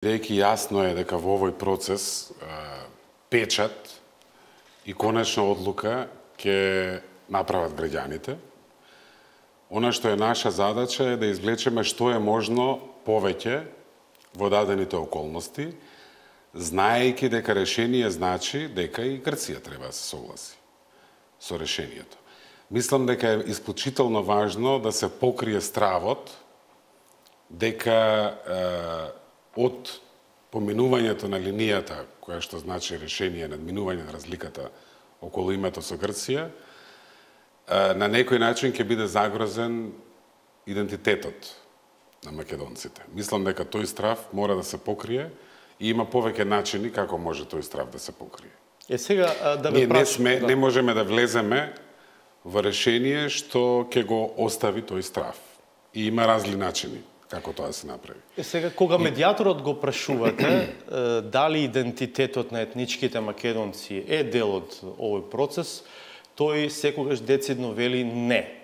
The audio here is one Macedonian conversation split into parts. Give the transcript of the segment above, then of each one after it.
Бидејќи јасно е дека во овој процес печат и конечна одлука ќе направат граѓаните. Она што е наша задача е да извлечеме што е можно повеќе во дадените околности, знаејќи дека решение значи дека и Грција треба да се согласи со решението. Мислам дека е исклучително важно да се покрие стравот дека од поминувањето на линијата, која што значи решение, надминување на разликата околу името со Грција, на некој начин ќе биде загрозен идентитетот на македонците. Мислам дека тој страв мора да се покрие и има повеќе начини како може тој страв да се покрие. Сега да ве прашам, не можеме да влеземе во решение што ќе го остави тој страв. И има разли начини како тоа се направи. Сега, кога медијаторот го прашувате дали идентитетот на етничките македонци е дел од овој процес, тој секогаш децидно вели не.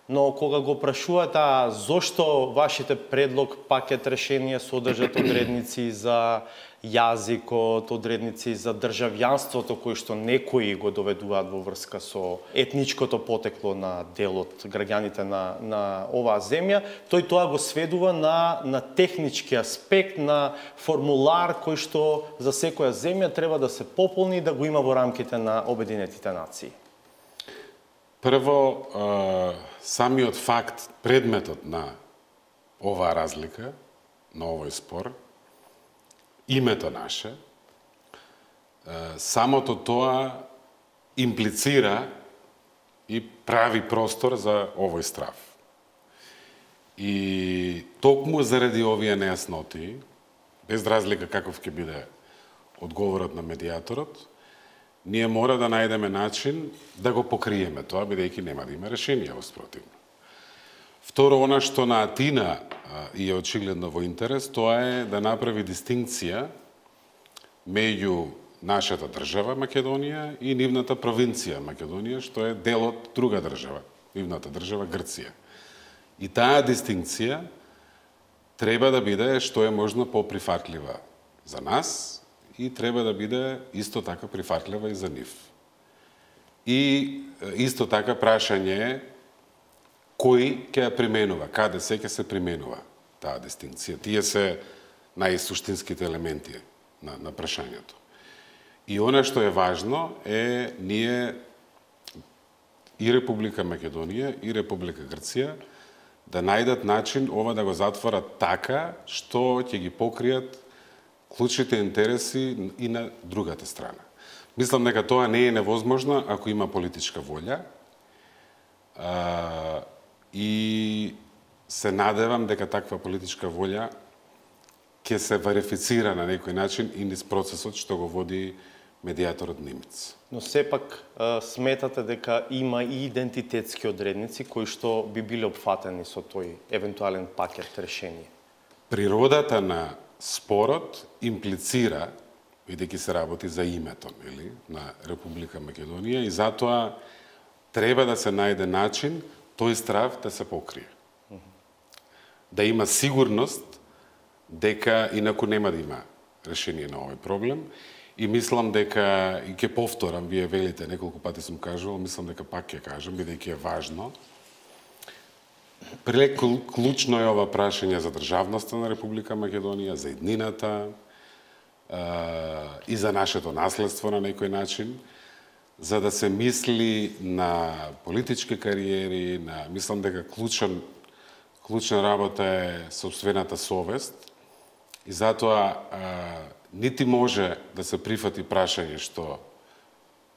Но кога го прашувате зошто вашите предлог пакет решенија содржат одредници за јазикот, одредници за државјанството кои што некои го доведуваат во врска со етничкото потекло на дел од граѓаните на оваа земја, тој тоа го сведува на технички аспект, на формулар кој што за секоја земја треба да се пополни и да го има во рамките на Обединетите нации. Прво, самиот факт, предметот на оваа разлика, на овој спор, името наше, самото тоа имплицира и прави простор за овој страв. И токму заради овие нејасноти, без разлика каков ќе биде одговорот на медијаторот, ние мора да најдеме начин да го покриеме тоа, бидејќи нема да има решение во спротивно. Второ, она што на Атина и е очигледно во интерес, тоа е да направи дистинкција меѓу нашата држава Македонија и нивната провинција Македонија, што е дел од друга држава, нивната држава Грција. И таа дистинкција треба да биде што е можно поприфатлива за нас и треба да биде исто така прифатлива и за нив. И исто така прашање е кој ќе ја применува, каде се ќе се применува таа дистинкција. Тие се најсуштинските елементи на прашањето. И она што е важно е ние и Република Македонија и Република Грција да најдат начин ова да го затворат така што ќе ги покријат клучните интереси и на другата страна. Мислам дека тоа не е невозможно ако има политичка волја и се надевам дека таква политичка волја ќе се верифицира на некој начин и низ процесот што го води медијаторот Нимец. Но сепак сметате дека има и идентитетски одредници кои што би биле опфатени со тој евентуален пакет решение? Природата на спорот имплицира, бидејќи се работи за името на Република Македонија, и затоа треба да се најде начин тој страв да се покрие. Да има сигурност дека инаку нема да има решение на овој проблем. И мислам дека, и ќе повторам, вие велите, неколку пати сум кажувал, мислам дека пак ќе кажам, бидејќи е важно. Клучно е ова прашање за државноста на Република Македонија, за еднината и за нашето наследство на некој начин, за да се мисли на политички кариери, мислам дека клучна работа е сопствената совест и затоа нити може да се прифати прашање што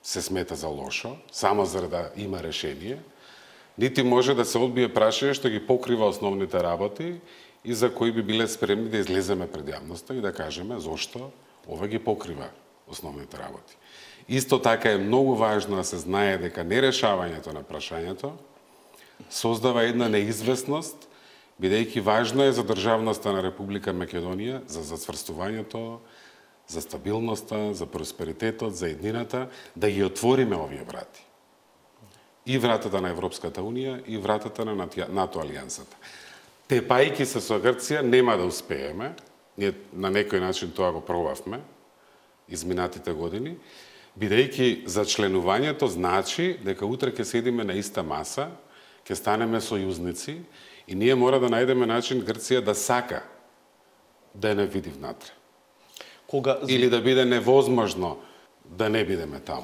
се смета за лошо, само за да има решение, нити може да се одбие прашање што ги покрива основните работи и за кои би биле спремни да излеземе пред јавноста и да кажеме зошто ова ги покрива основните работи. Исто така е многу важно да се знае дека нерешавањето на прашањето создава една неизвестност, бидејќи важно е за државноста на Република Македонија, за зацврстувањето, за стабилноста, за просперитетот, за еднината, да ги отвориме овие врати. И вратата на Европската Унија, и вратата на НАТО алијансата. Тепајки се со Грција нема да успееме, Ние на некој начин тоа го пробавме изминатите години, бидејќи за членувањето значи дека утре ќе седиме на иста маса, ќе станеме сојузници и ние мора да најдеме начин Грција да сака да не види внатре. Или да биде невозможно да не бидеме таму.